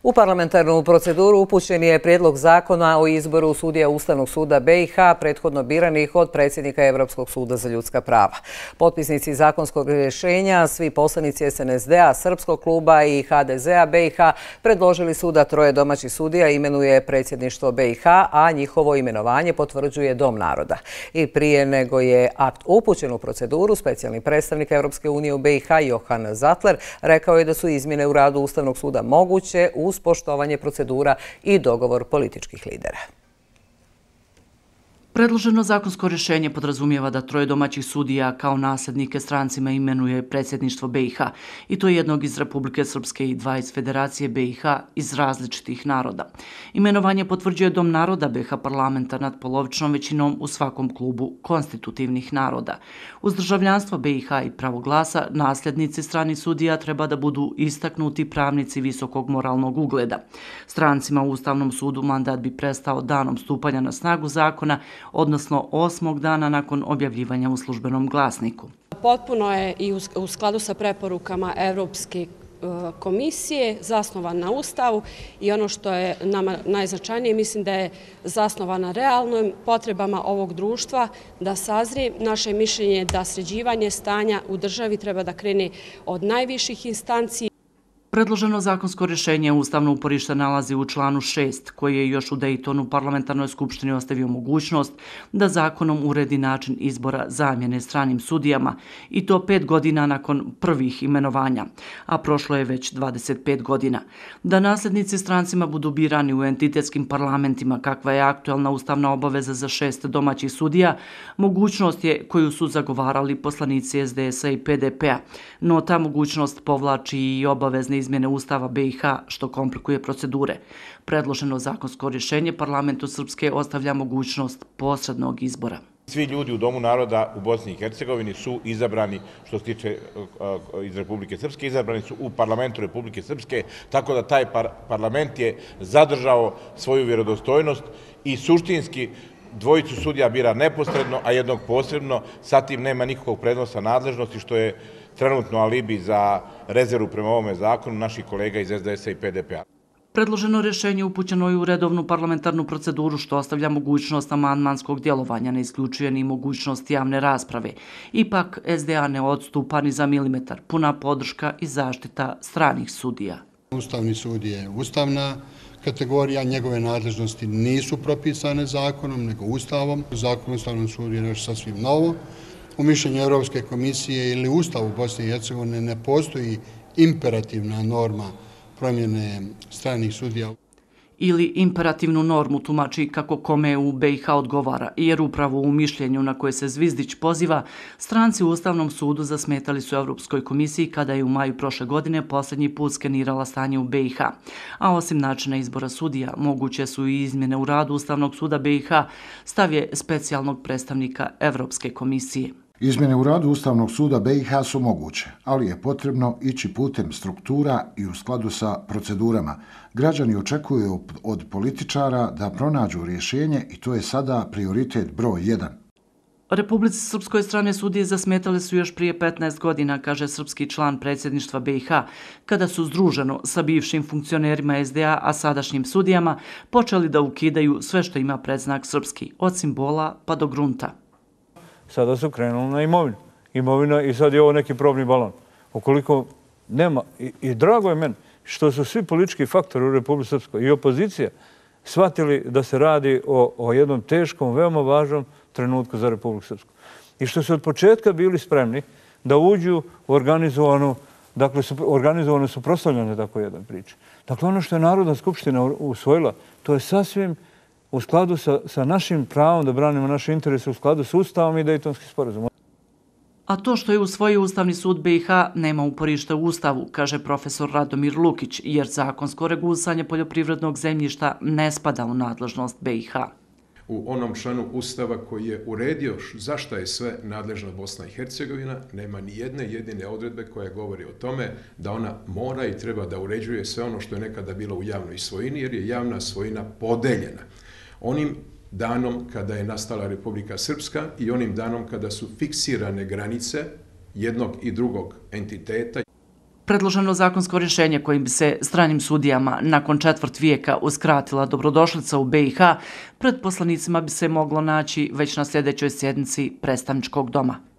U parlamentarnu proceduru upućen je prijedlog zakona o izboru sudija Ustavnog suda BiH, prethodno biranih od predsjednika Europskog suda za ljudska prava. Potpisnici zakonskog rješenja, svi poslanici SNSD-a, Srpskog kluba i HDZ-a BiH, predložili su da 3 domaćih sudija imenuje predsjedništvo BiH, a njihovo imenovanje potvrđuje Dom naroda. I prije nego je akt upućen u proceduru, specijalni predstavnik Europske unije u BiH, Johan Zatler, rekao je da su izmjene u radu Ustavnog suda moguće uz poštovanje procedura i dogovor političkih lidera. Predloženo zakonsko rješenje podrazumijeva da 3 domaćih sudija kao nasljednike strancima imenuje predsjedništvo BiH, i to jednog iz Republike Srpske i 2 iz Federacije BiH iz različitih naroda. Imenovanje potvrđuje Dom naroda BiH parlamenta nadpolovičnom većinom u svakom klubu konstitutivnih naroda. Uz državljanstvo BiH i pravo glasa, nasljednici stranih sudija treba da budu istaknuti pravnici visokog moralnog ugleda. Strancima u Ustavnom sudu mandat bi prestao danom stupanja na snagu zakona, odnosno 8. dana nakon objavljivanja u službenom glasniku. Potpuno je i u skladu sa preporukama Europske komisije zasnovan na Ustavu i ono što je nama najznačajnije, mislim da je zasnovan na realnim potrebama ovog društva da sazri. Naše mišljenje je da sređivanje stanja u državi treba da krene od najviših instanci. Predloženo zakonsko rješenje ustavno uporište nalazi u članu 6, koji je još u Daytonu parlamentarnoj skupštini ostavio mogućnost da zakonom uredi način izbora zamjene stranim sudijama, i to 5 godina nakon prvih imenovanja, a prošlo je već 25 godina. Da nasljednici strancima budu birani u entitetskim parlamentima, kakva je aktualna ustavna obaveza za 6 domaćih sudija, mogućnost je koju su zagovarali poslanici SDS-a i PDP-a, no ta mogućnost povlači i obavezne izmjene Ustava BiH, što komplikuje procedure. Predloženo zakonsko rješenje parlamentu Srpske ostavlja mogućnost posrednog izbora. Svi ljudi u Domu naroda u Bosni i Hercegovini su izabrani, što se tiče iz Republike Srpske, izabrani su u parlamentu Republike Srpske, tako da taj parlament je zadržao svoju vjerodostojnost i suštinski dvojicu sudija bira neposredno, a jednog posredno. Sa tim nema nikakvog prednosa nadležnosti, što je trenutno alibi za rezervu prema ovome zakonu naših kolega iz SDS-a i PDP-a. Predloženo rješenje upućeno je u redovnu parlamentarnu proceduru, što ostavlja mogućnost amandmanskog djelovanja, ne isključuje ni mogućnost javne rasprave. Ipak, SDA ne odstupa ni za milimetar, puna podrška i zaštita stranih sudija. Ustavni sud je ustavna kategorija, njegove nadležnosti nisu propisane zakonom, nego Ustavom. Zakon o Ustavnom sudu je nešto sasvim novo. U mišljenju Europske komisije ili Ustavu Bosne i Hercegovine ne postoji imperativna norma promjene stranih sudija. Ili imperativnu normu tumači kako kome u BiH odgovara, jer upravo u mišljenju na koje se Zvizdić poziva, stranci u Ustavnom sudu zasmetali su Europskoj komisiji kada je u maju prošle godine posljednji put skenirala stanje u BiH. A osim načina izbora sudija, moguće su i izmjene u radu Ustavnog suda BiH, stav je specijalnog predstavnika Europske komisije. Izmjene u radu Ustavnog suda BiH su moguće, ali je potrebno ići putem struktura i u skladu sa procedurama. Građani očekuju od političara da pronađu rješenje i to je sada prioritet broj 1. Republici Srpskoj strane sudije zasmetali su još prije 15 godina, kaže srpski član predsjedništva BiH, kada su združeno sa bivšim funkcionerima SDA, a sadašnjim sudijama, počeli da ukidaju sve što ima predznak srpski, od simbola pa do grunta. Sada su krenuli na imovinu. Imovina i sad je ovo neki probni balon. Ukoliko nema, i drago je meni što su svi politički faktori u Republici Srpskoj i opozicija shvatili da se radi o jednom teškom, veoma važnom trenutku za Republiku Srpsku. I što su od početka bili spremni da uđu u organizovano suprotstavljanje tako jedan priče. Dakle, ono što je Narodna skupština usvojila, to je sasvim u skladu sa našim pravom da branimo naše interese, u skladu s Ustavom i Dejtonskim sporazumom. A to što je usvojio Ustavni sud BiH nema uporište u Ustavu, kaže profesor Radomir Lukić, jer zakonsko regulisanje poljoprivrednog zemljišta ne spada u nadležnost BiH. U onom članu Ustava koji je uredio zašto je sve nadležna Bosna i Hercegovina, nema ni jedne jedine odredbe koja govori o tome da ona mora i treba da uređuje sve ono što je nekada bilo u javnoj svojini, jer je javna svojina podeljena. Onim danom kada je nastala Republika Srpska i onim danom kada su fiksirane granice jednog i drugog entiteta. Predloženo zakonsko rješenje kojim bi se stranim sudijama nakon 1/4 vijeka uskratila dobrodošlica u BiH, pred poslanicima bi se moglo naći već na sljedećoj sjednici predstavničkog doma.